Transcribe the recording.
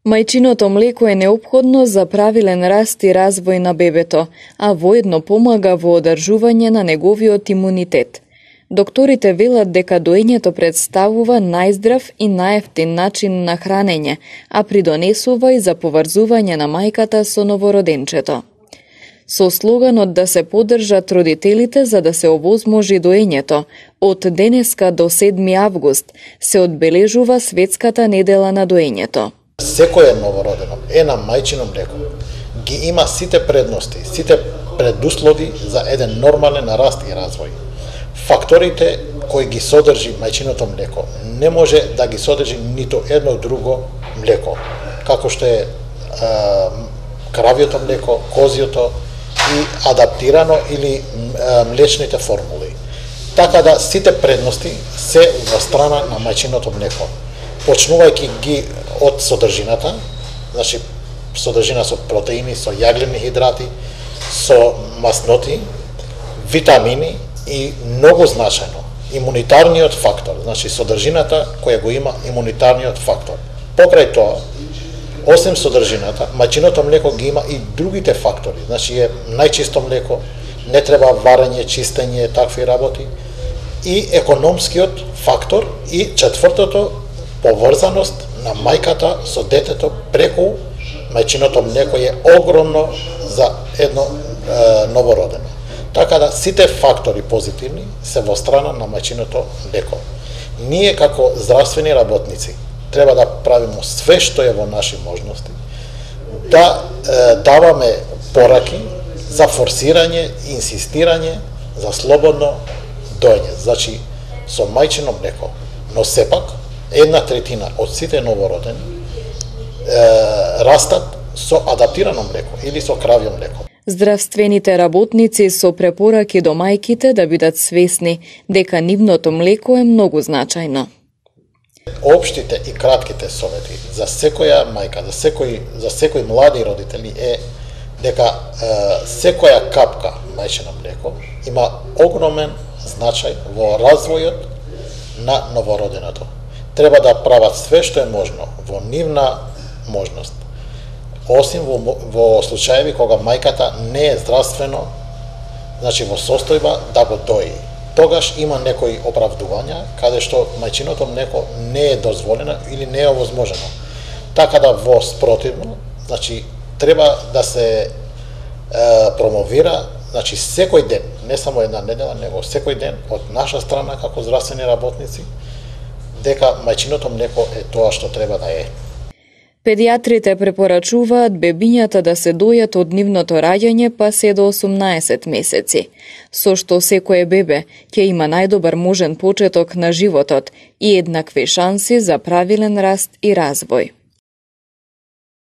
Мајчиното млеко е неопходно за правилен раст и развој на бебето, а воедно помага во одржување на неговиот имунитет. Докторите велат дека доењето представува најздрав и наевтин начин на хранење, а придонесува и за поврзување на мајката со новороденчето. Со слоганот да се поддржат родителите за да се овозможи доењето, од денеска до 7 август се одбележува Светската недела на доењето. Секој новородено е на мајчино млеко. Ги има сите предности, сите предуслови за еден нормален раст и развој. Факторите кои ги содржи мајчиното млеко не може да ги содржи нито едно друго млеко, како што е кравјото млеко, козјото и адаптирано или млечните формули. Така да сите предности се во страна на мајчиното млеко. Почнувајќи ги од содржината, значи содржина со протеини, со јаглени хидрати, со масноти, витамини и многу значајно имунитарниот фактор, значи содржината која го има имунитарниот фактор. Покрај тоа, осем содржината, мајчиното млеко ги има и другите фактори, значи е најчисто млеко, не треба варење, чистење, такви работи, и економскиот фактор и четвртото, поврзаност на мајката со детето преку мајчиното млеко е огромно за едно новородено. Така да сите фактори позитивни се во страна на мајчиното млеко. Ние како здравствени работници треба да правиме све што е во наши можности, да даваме пораки за форсирање и инсистирање за слободно доење, значи со мајчино млеко. Но сепак, 1/3 од сите новородени растат со адаптирано млеко или со кравјо млеко. Здравствените работници со препораки до мајките да бидат свесни дека нивното млеко е многу значајно. Општите и кратките совети за секоја мајка, за секој млади родители е дека секоја капка мајчино млеко има огромен значај во развојот на новороденото. Треба да прават све што е можно во нивна можност, осим во случаеви кога мајката не е здравствено, значи во состојба да го дои. Тогаш има некои оправдувања каде што мајчиното млеко не е дозволено или не е овозможено. Така да во спротивно, значи треба да се промовира, значи секој ден, не само една недела, него секој ден од наша страна како здравствени работници, дека мајчиното млеко е тоа што треба да е. Педиатрите препорачуваат бебињата да се дојат од нивното раѓање па се до 18 месеци, со што секое бебе ќе има најдобар можен почеток на животот и еднакви шанси за правилен раст и развој.